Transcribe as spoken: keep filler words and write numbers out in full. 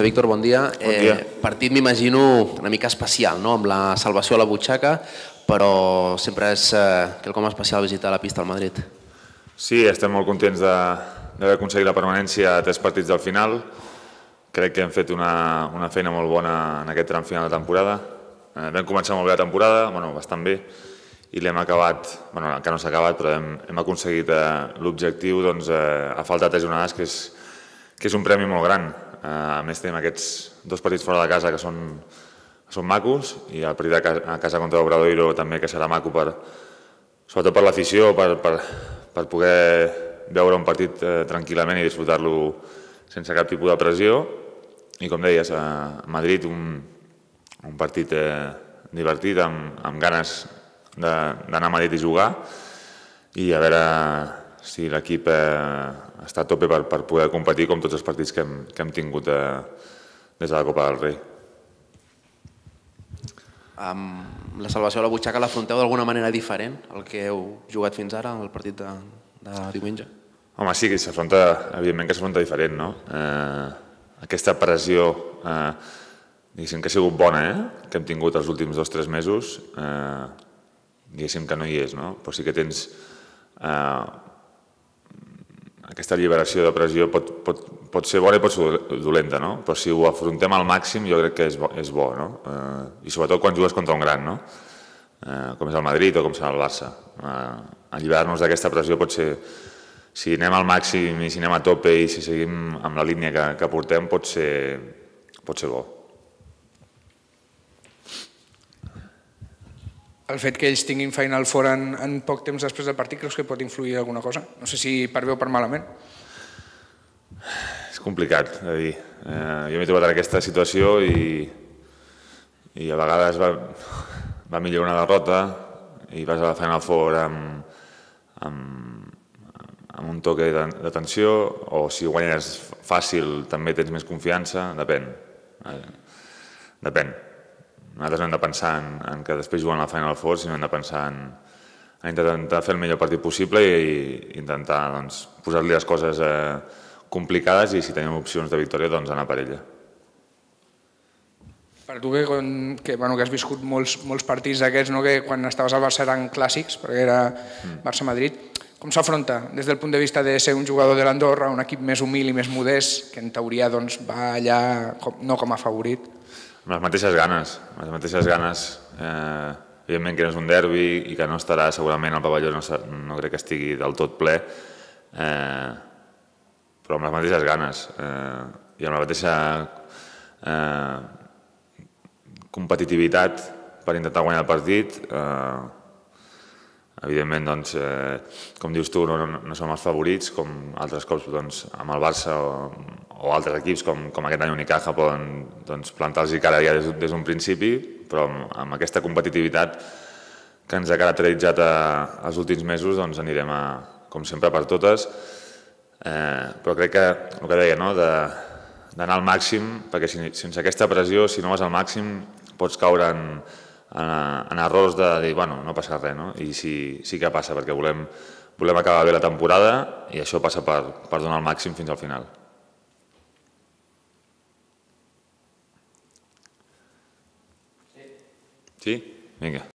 Víctor, bon dia. Bon dia. Eh, partit m'imagino una mica especial, no? Amb la salvació a la butxaca, però sempre és eh, quelcom especial visitar la pista al Madrid. Sí, estem molt contents d'haver aconseguit la permanència a tres partits del final. Crec que hem fet una, una feina molt bona en aquest tram final de temporada. Eh, vam començar molt bé la temporada, bueno, bastant bé, i l'hem acabat, bueno, encara no s'ha acabat, però hem, hem aconseguit eh, l'objectiu doncs, eh, a falta de tres jornades, que és, que és un premi molt gran. Eh, a més, tenim aquests dos partits fora de casa que són, que són macos, i el partit a casa, a casa contra l'Obradoiro també, que serà maco, per, sobretot per l'afició, per, per, per poder veure un partit eh, tranquil·lament i disfrutar-lo sense cap tipus de pressió. I com deies, a Madrid un, un partit eh, divertit, amb, amb ganes d'anar a Madrid i jugar, i a veure si l'equip eh, està a tope per, per poder competir com tots els partits que hem, que hem tingut eh, des de la Copa del Rei. Amb la salvació a la butxaca l'afronteu d'alguna manera diferent al que heu jugat fins ara, al partit de, de diumenge? Home, sí, que s'afronta, evidentment que s'afronta diferent, no? Eh, aquesta pressió, eh, diguéssim que ha sigut bona, eh? Que hem tingut els últims dos o tres mesos, eh, diguéssim que no hi és, no? Però sí que tens eh, aquesta alliberació de pressió, pot, pot, pot ser bona i pot ser dolenta, no? Però si ho afrontem al màxim jo crec que és bo, és bo, no? Eh, I sobretot quan jugues contra un gran, no? Eh, com és el Madrid o com serà el Barça. Eh, alliberar-nos d'aquesta pressió pot ser, si anem al màxim i si anem a tope i si seguim amb la línia que, que portem, pot ser, pot ser bo. El fet que ells tinguin Final Four en, en poc temps després del partit, creus que pot influir alguna cosa? No sé si per bé o per malament. És complicat de dir. Eh, jo m'he trobat en aquesta situació i, i a vegades va, va millor una derrota i vas a la Final Four amb, amb, amb un toque de, de tensió, o si guanyes fàcil també tens més confiança, depèn. Eh, depèn. Nosaltres no hem de pensar en, en que després juguen a la Final Four, sinó hem de pensar en, en intentar fer el millor partit possible i, i intentar doncs, posar-li les coses eh, complicades, i si tenim opcions de victòria, doncs anar per ella. Per tu que, que, bueno, que has viscut molts, molts partits d'aquests, no? Que quan estaves al Barça eren clàssics, perquè era Barça-Madrid, com s'afronta des del punt de vista de ser un jugador de l'Andorra, un equip més humil i més modest, que en teoria doncs, va allà com, no com a favorit? Amb les mateixes ganes, amb les mateixes ganes, eh, evidentment que no és un derbi i que no estarà, segurament el pavelló no, no crec que estigui del tot ple, eh, però amb les mateixes ganes eh, i amb la mateixa eh, competitivitat per intentar guanyar el partit. Eh, evidentment, doncs, eh, com dius tu, no, no, no som els favorits, com altres cops doncs, amb el Barça o, o altres equips com, com aquest any Unicaja poden doncs, plantar-los cara ja des, des d'un principi, però amb, amb aquesta competitivitat que ens ha caracteritzat a, els últims mesos, doncs anirem a, com sempre per totes, eh, però crec que el que deia, no? d'anar al màxim, perquè si, sense aquesta pressió, si no vas al màxim, pots caure en, en, en errors de dir, bueno, no passa res, no? I sí, sí que passa, perquè volem, volem acabar bé la temporada i això passa per, per donar el màxim fins al final. Sí? Vinga.